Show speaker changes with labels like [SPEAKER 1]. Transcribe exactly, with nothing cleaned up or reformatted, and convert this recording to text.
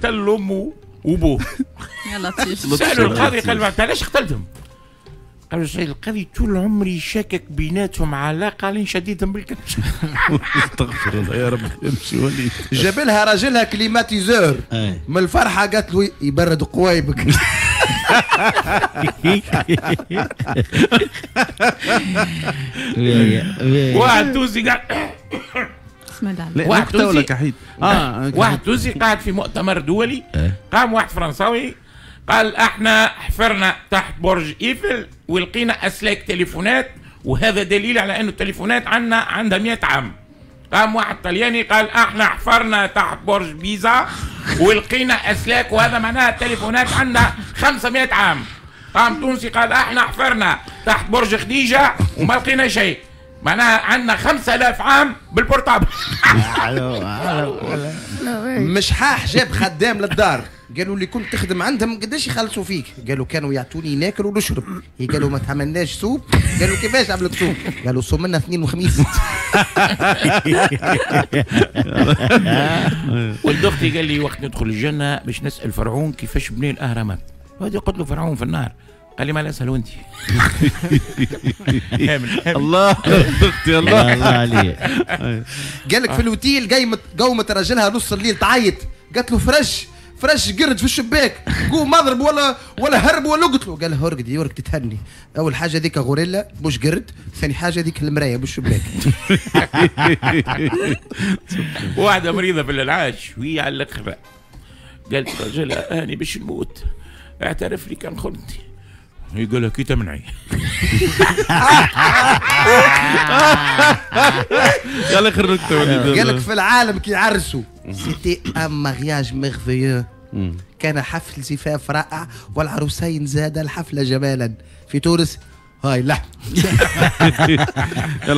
[SPEAKER 1] قتل امه وابوه.
[SPEAKER 2] يا لطيف.
[SPEAKER 1] سالوا القاضي، قال له علاش قتلتهم؟ قالوا السيد القاضي طول عمري شاكك بيناتهم علاقة لين شديدهم بالكرش.
[SPEAKER 3] استغفر الله يا رب، امشي وليد.
[SPEAKER 4] جاب لها راجلها climatiseur، من الفرحة قالت له يبرد قوايبك.
[SPEAKER 1] واحد تونسي قاعد
[SPEAKER 3] واحد تونسي كحيد
[SPEAKER 1] اه واحد تونسي قاعد في مؤتمر دولي، قام واحد فرنساوي قال احنا حفرنا تحت برج ايفل ولقينا اسلاك تليفونات، وهذا دليل على انه التليفونات عندنا عندها مئة عام. قام واحد طلياني قال احنا حفرنا تحت برج بيزا ولقينا اسلاك، وهذا معناها التليفونات عندنا خمسمئة عام. قام تونسي قال احنا حفرنا تحت برج خديجة وما لقينا شيء، معناها عندنا خمسة آلاف عام بال portable.
[SPEAKER 4] مشحاح جاب خدام للدار، قالوا لي كنت تخدم عندهم قداش يخلصوا فيك؟ قالوا كانوا يعطوني ناكل ونشرب. قالوا ما تعملناش soupe؟ قالوا كيفاش عملت soupe؟ قالوا صوم لنا اثنين وخميس.
[SPEAKER 1] ولد اختي قال لي وقت ندخل الجنة باش نسال فرعون كيفاش بني الاهرامات. وهذه قلت له فرعون في النار، قال لي ما لا اسال وانت.
[SPEAKER 3] الله الله
[SPEAKER 5] الله عليك.
[SPEAKER 4] قال لك في الاوتيل قايمة قومت راجلها نص الليل تعيط، قالت له فرش فرش قرد في الشباك، قوم اضرب ولا ولا هرب ولا اقتله. قال لها ارقدي ورك تتهني، اول حاجة ذيك غوريلا مش قرد، ثاني حاجة ذيك المراية مش شباك.
[SPEAKER 1] واحدة مريضه في الانعاش وهي على الاخر، قالت رجلها اني باش نموت، اعترف لي كان خنتي. يقول لها كي تمنعي.
[SPEAKER 3] يلا اخر نكتة.
[SPEAKER 4] قال لك في العالم كي يعرسوا c'était un mariage merveilleux، كان حفل زفاف رائع والعروسين زاد الحفلة جمالا. في تونس هاي لا.
[SPEAKER 3] يلا.